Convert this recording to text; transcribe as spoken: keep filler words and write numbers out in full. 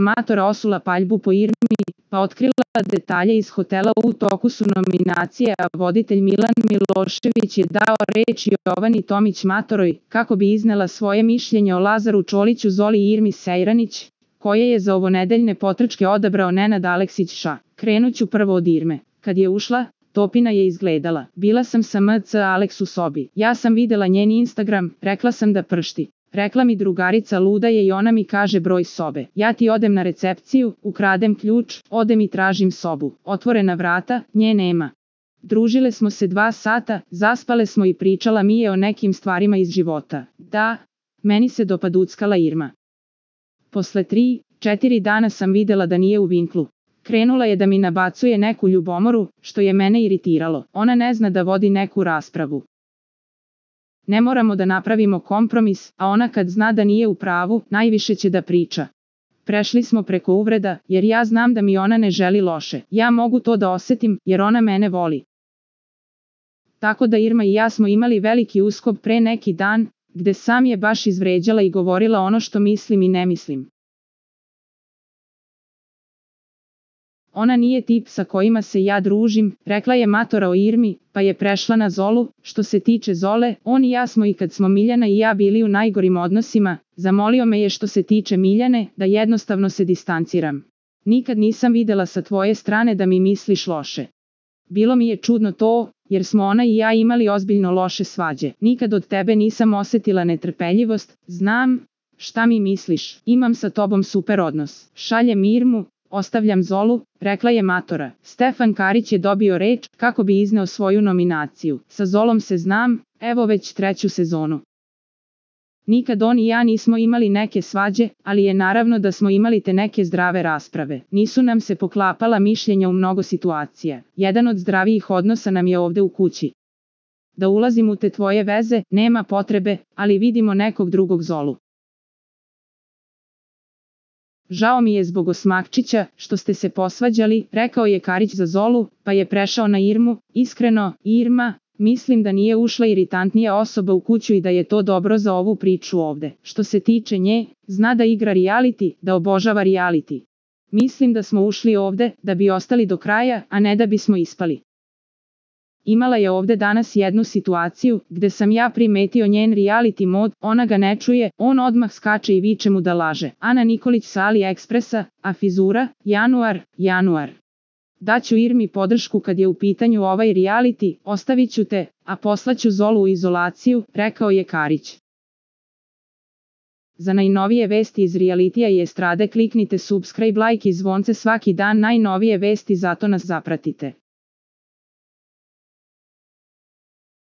Matora osula paljbu po Irmi, pa otkrila detalje iz hotela. U toku su nominacije, a voditelj Milan Milošević je dao reč Jovani Tomić Matoroj, kako bi iznela svoje mišljenje o Lazaru Čoliću, Zoli i Irmi Sejranić, koje je za ovonedeljne potrčke odabrao Nenad Aleksić Ša. Krenuću prvo od Irme. Kad je ušla, Topina je izgledala. Bila sam sa M C Aleks u sobi. Ja sam videla njen Instagram, rekla sam da pršti. Rekla mi drugarica luda je i ona mi kaže broj sobe. Ja ti odem na recepciju, ukradem ključ, odem i tražim sobu. Otvorena vrata, nje nema. Družile smo se dva sata, zaspale smo i pričala mi je o nekim stvarima iz života. Da, meni se dopaduckala Irma. Posle tri, četiri dana sam videla da nije u vinklu. Krenula je da mi nabacuje neku ljubomoru, što je mene iritiralo. Ona ne zna da vodi neku raspravu. Ne moramo da napravimo kompromis, a ona kad zna da nije u pravu, najviše će da priča. Prešli smo preko uvreda, jer ja znam da mi ona ne želi loše. Ja mogu to da osetim, jer ona mene voli. Tako da Irma i ja smo imali veliki uskob pre neki dan, gde sam je baš izvređala i govorila ono što mislim i ne mislim. Ona nije tip sa kojima se ja družim, rekla je Matora o Irmi, pa je prešla na Zolu. Što se tiče Zole, on i ja smo i kad smo Miljana i ja bili u najgorim odnosima, zamolio me je što se tiče Miljane, da jednostavno se distanciram. Nikad nisam videla sa tvoje strane da mi misliš loše. Bilo mi je čudno to, jer smo ona i ja imali ozbiljno loše svađe. Nikad od tebe nisam osetila netrpeljivost, znam šta mi misliš, imam sa tobom super odnos. Šaljem Irmu, ostavljam Zolu, rekla je Matora. Stefan Karić je dobio reč, kako bi izneo svoju nominaciju. Sa Zolom se znam, evo već treću sezonu. Nikad on i ja nismo imali neke svađe, ali je naravno da smo imali te neke zdrave rasprave. Nisu nam se poklapala mišljenja u mnogo situacija. Jedan od zdravijih odnosa nam je ovde u kući. Da ulazim u te tvoje veze, nema potrebe, ali vidimo nekog drugog Zolu. Žao mi je zbog Osmakčića, što ste se posvađali, rekao je Karić za Zolu, pa je prešao na Irmu. Iskreno, Irma, mislim da nije ušla iritantnija osoba u kuću i da je to dobro za ovu priču ovde. Što se tiče nje, zna da igra reality, da obožava reality. Mislim da smo ušli ovde da bi ostali do kraja, a ne da bismo ispali. Imala je ovde danas jednu situaciju, gde sam ja primetio njen reality mod, ona ga ne čuje, on odmah skače i viče mu da laže. Ana Nikolić sa AliExpressa, a fizura, januar, januar. Daću Irmi podršku kad je u pitanju ovaj reality, ostavit ću te, a poslaću Zolu u izolaciju, rekao je Karić. Za najnovije vesti iz realitija i estrade kliknite subscribe, like i zvonce svaki dan, najnovije vesti, zato nas zapratite.